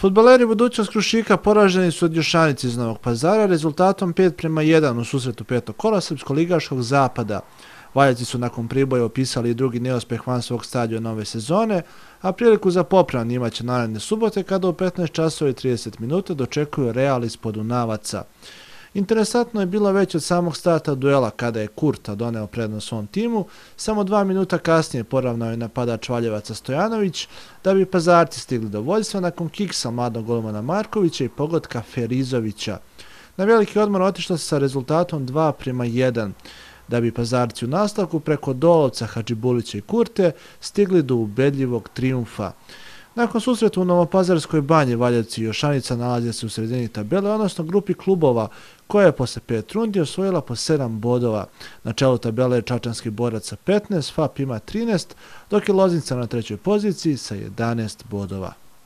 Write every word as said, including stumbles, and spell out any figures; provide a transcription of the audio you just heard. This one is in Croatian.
Fudbaleri budućnost Krušika poraženi su od Jošanice iz Novog Pazara rezultatom pet prema jedan u susretu petog kola srpsko-ligaškog zapada. Valjevci su nakon priboja opisali i drugi neuspeh van svog stadiona nove sezone, a priliku za popravan imaće naredne subote kada u petnaest časova i trideset minuta dočekuju Real iz Podunavaca. Interesantno je bilo već od samog starta duela kada je Kurta doneo prednost svom timu, samo dva minuta kasnije poravnao je napadač Valjevaca Stojanović, da bi Pazarci stigli do vođstva nakon kiksa mladog golmana Markovića i pogotka Ferizovića. Na veliki odmor otišlo se sa rezultatom dva prema jedan, da bi Pazarci u nastavku preko Dolovca, Hadžibulića i Kurte stigli do ubedljivog trijumfa. Nakon susreta u Novopazarskoj banji Valjevci i Jošanica nalaze se u sredini tabele, odnosno grupi klubova koja je posle pet rundi osvojila po sedam bodova. Na čelu tabele je Čačanski Borac sa petnaest, F A P ima trinaest, dok je Loznica na trećoj poziciji sa jedanaest bodova.